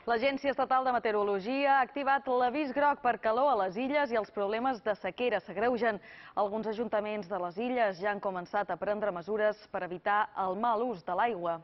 L'Agència Estatal de Meteorologia ha activat l'avís groc per calor a les illes i els problemes de sequera s'agreugen. Alguns ajuntaments de les illes ja han començat a prendre mesures per evitar el mal ús de l'aigua.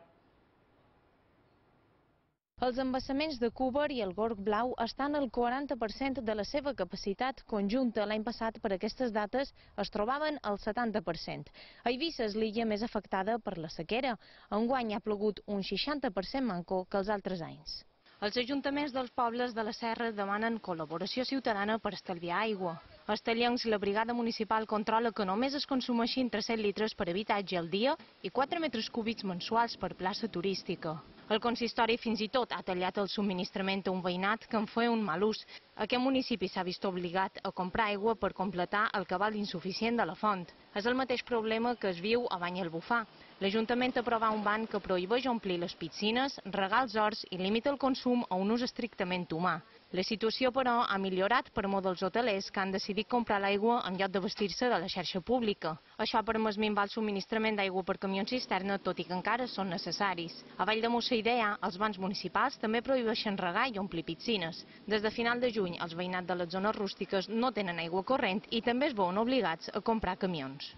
Els embassaments de Cúber i el Gorg Blau estan al 40% de la seva capacitat conjunta. L'any passat, per aquestes dates, es trobaven al 70%. A Eivissa és l'illa més afectada per la sequera. Enguany ha plogut un 60% manco que els altres anys. Els ajuntaments dels pobles de la Serra demanen col·laboració ciutadana per estalviar aigua. A Estellencs, la brigada municipal controla que només es consumeixin 300 litres per habitatge al dia i 4 metres cúbics mensuals per plaça turística. El consistori fins i tot ha tallat el subministrament a un veïnat que en feia un mal ús. Aquest municipi s'ha vist obligat a comprar aigua per completar el cabal insuficient de la font. És el mateix problema que es viu a Banyalbufar. L'Ajuntament aprova un ban que prohibeix omplir les piscines, regar els horts i limita el consum a un ús estrictament humà. La situació, però, ha millorat per molts dels hotelers que han decidit comprar l'aigua en lloc de vestir-se de la xarxa pública. Això ha permès minvar el subministrament d'aigua per camions cisterna, tot i que encara són necessaris. A Vall de Mussaidea, els bans municipals també prohibeixen regar i omplir piscines. Des de final de juny, els veïnats de les zones rústiques no tenen aigua corrent i també es veuen obligats a comprar camions.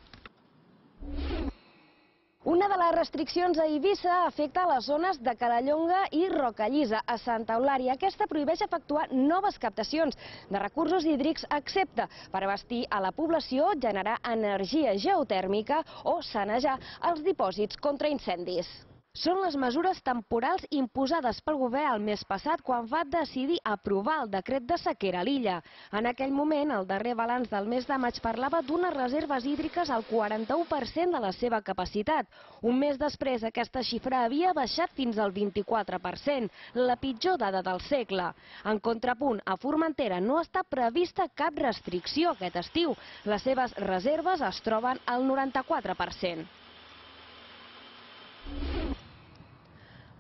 Una de les restriccions a Eivissa afecta les zones de Calallonga i Rocallisa, a Santa Eulària. Aquesta prohibeix efectuar noves captacions de recursos hídrics, excepte per abastir a la població, generar energia geotèrmica o sanejar els dipòsits contra incendis. Són les mesures temporals imposades pel govern el mes passat quan va decidir aprovar el decret de sequera a l'illa. En aquell moment, el darrer balanç del mes de maig parlava d'unes reserves hídriques al 41% de la seva capacitat. Un mes després, aquesta xifra havia baixat fins al 24%, la pitjor dada del segle. En contrapunt, a Formentera no està prevista cap restricció aquest estiu. Les seves reserves es troben al 94%.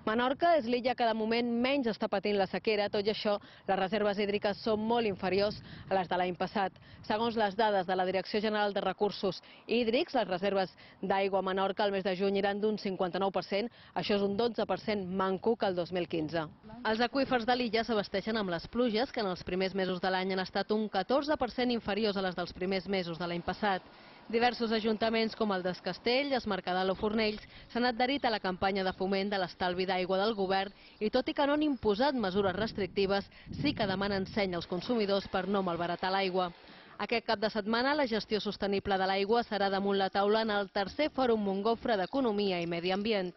Menorca és l'illa que de moment menys està patint la sequera. Tot i això, les reserves hídriques són molt inferiors a les de l'any passat. Segons les dades de la Direcció General de Recursos Hídrics, les reserves d'aigua a Menorca al mes de juny eren d'un 59%, això és un 12% manco que el 2015. Els aqüífers de l'illa s'abasteixen amb les pluges, que en els primers mesos de l'any han estat un 14% inferiors a les dels primers mesos de l'any passat. Diversos ajuntaments com el d'Es Castell, Es Mercadal o Fornells s'han adherit a la campanya de foment de l'estalvi d'aigua del govern i tot i que no han imposat mesures restrictives, sí que demanen seny als consumidors per no malbaratar l'aigua. Aquest cap de setmana la gestió sostenible de l'aigua serà damunt la taula en el tercer Fòrum Montgofre d'Economia i Medi Ambient.